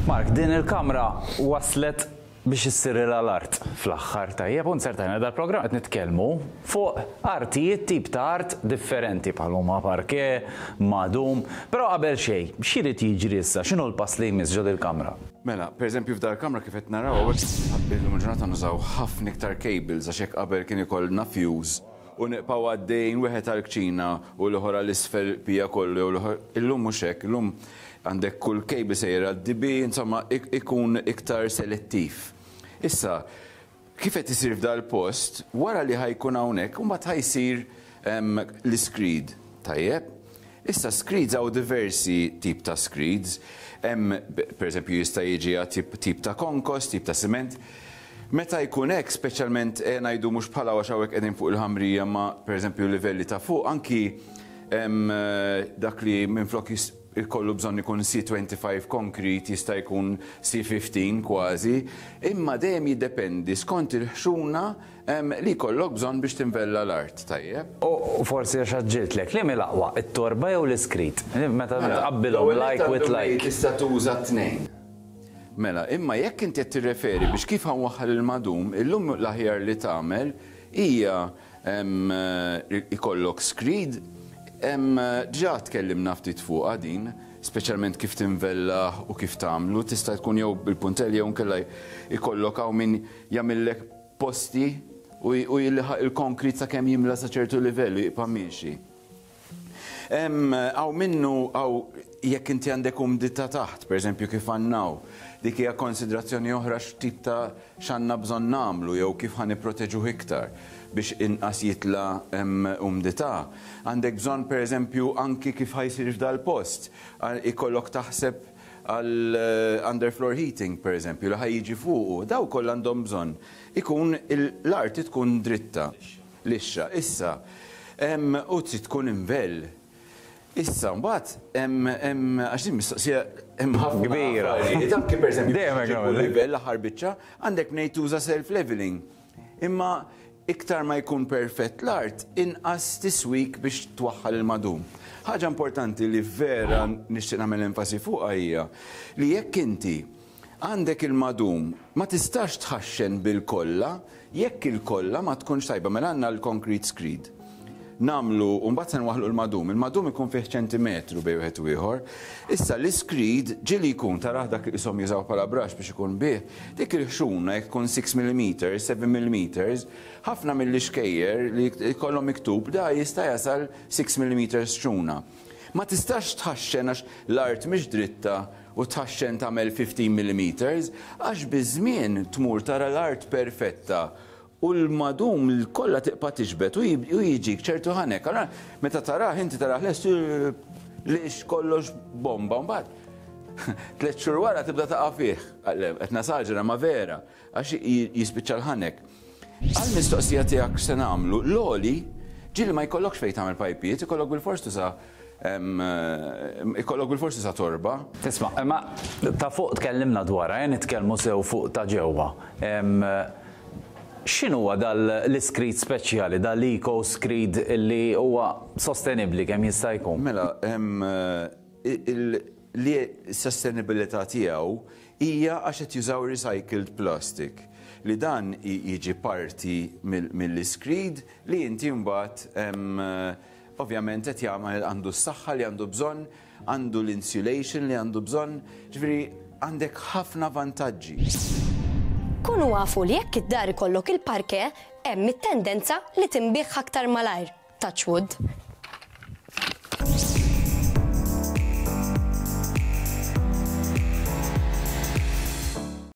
Mark, din il-kamra waslet biex issirilha l-art fl-aħħar. Tajjeb, u nzertajna dal-programm qed nitkellmu fuq artijiet, tip ta' art differenti bħal huma parke, madum. Però qabel xejn, x'irid jiġri issa? X'inhu l-pass li jmiss ġo dil-kamra? Mela, pereżempju f'dal-kamra kif qed naraw hawnhekk illum il-ġurnata nużaw ħafna iktar cables għax jekk qabel kien ikollna fuse u nibqgħu għaddejjin wieħed għall-kċina u l-ieħor għal isfel pija kollu jew l-ieħor, illum mhux hekk, illum għandek kull cable sejjer għad-DB, insomma ikun iktar selettiv. Issa, kif qed isir f'dal-post, wara li ħa jkun hawnhekk, imbagħad ħa jsir l-iscreed, tajjeb? Issa screeds hawn diversi tip ta' screeds. Hemm pereżempju jista' jiġi għal tip ta' konkos, tip ta' siment. Meta jkun hekk, speċjalment eh, ngħidu mhux bħala għax hawnhekk qegħdin fuq il-ħamrija ma pereżempju livelli ta' fuq anki dak li minflok ikollu bżonn ikun C25 concrete jista' jkun C15 kważi, imma dejjem jiddependi skont il-ħxuna Li jkollok bżonn biex tinvella l-art, tajjeb. U forsi għax għaġġiltlek, liema hi l-aqwa, it-torba jew l-iskrit? Meta tqabbilhom like with like. Tista' tuża t-tnejn. Mela, imma jekk inti qed tirreferi biex kif ħa nwaħħal il-madum, illum l-aħjar li tagħmel hija ikollok screed. Diġà tkellimna ftit fuqha din, speċjalment kif tinvellah u kif tagħmlu. Tista' tkun jew bil-puntell jew inkella jkollok hawn min jagħmillek posti u jilħaq il-konkrit sakemm jimla sa ċertu livell u jibqa' miexi. Hawn minnu hawn jekk inti għandek umdità taħt, pereżempju kif għandna hawn, dik hija konsidrazzjoni oħra x'tip ta' x'għandna bżonn nagħmlu jew kif ħa nipproteġuh iktar biex inqas jitla' umdità. Għandek bżonn pereżempju anki kif ħa jsir f'dal-post, ikollok taħseb għal underfloor heating pereżempju li ħa jiġi fuqu, dawn kollha għandhom bżonn ikun l-arti tkun dritta, lixxa. Issa, u trid tkun invell. Issa mbagħad hemm hemm għax din mistoqsija hemm ħafna Kbira. affarijiet, anki pereżempju Dejjem hekk biex nagħmel. livell l-aħħar biċċa, għandek mnejn tuża self-leveling. Imma iktar ma jkun perfett l-art, inqas tiswik biex twaħħal il-madum. Ħaġa importanti li vera nixtieq nagħmel enfasi fuqha hija li jekk inti għandek il-madum ma tistax tħaxxen bil-kolla jekk il-kolla ma tkunx tajba. Mela għandna l-concrete screed. Nagħmlu u mbagħad se nwaħħlu l-madum. Il-madum ikun fih ċentimetru bejn wieħed u ieħor. Issa l-iscreed ġieli jkun tarah dak li qishom jużaw bħala brush biex ikun bih, dik il-ħxuna jekk tkun 6 millimeters, 7 millimeters, ħafna mill-ixkejjer li jkollhom miktub da jista' jasal 6 millimeters ħxuna. Ma tistax tħaxxen għax l-art mhix dritta u tħaxxen tagħmel 15 millimeters għax biż-żmien tmur tara l-art perfetta U l-madum kollha tibqa' tixbet u jiġik ċertu ħanek. Allura meta tarah inti tarah lest lix kollox bomba mbagħad tliet xhur wara tibda taqa' fih. Qed nasaġera ma vera għax jispiċċa l-ħanek. Għall-mistoqsija tiegħek x'se nagħmlu, l-għoli ġieli ma jkollokx fejn tagħmel pajpijiet, ikollok bilfors tuża ikollok bilfors tuża torba. Isma' imma ta' fuq tkellimna dwarha, ejja nitkellmu sew fuq ta' ġewwa. X'inhuwa dal l-iscreed speċjali, dal l-eco screed li huwa sostenibbli kemm jista' jkun? Mela, li s-sostenibilità tiegħu hija għax qed jużaw recycled plastic, li dan jiġi parti mill-iscreed li inti mbagħad ovvjament qed jagħmel għandu s-saħħa li għandu bżonn Għandu l-insulation li għandu bżonn, ġifieri għandek ħafna vantaġġi. Kunu afu li jekk id-dar ikollok il-parquet, hemm it-tendenza li tinbiegħ aktar malajr. Touch wood.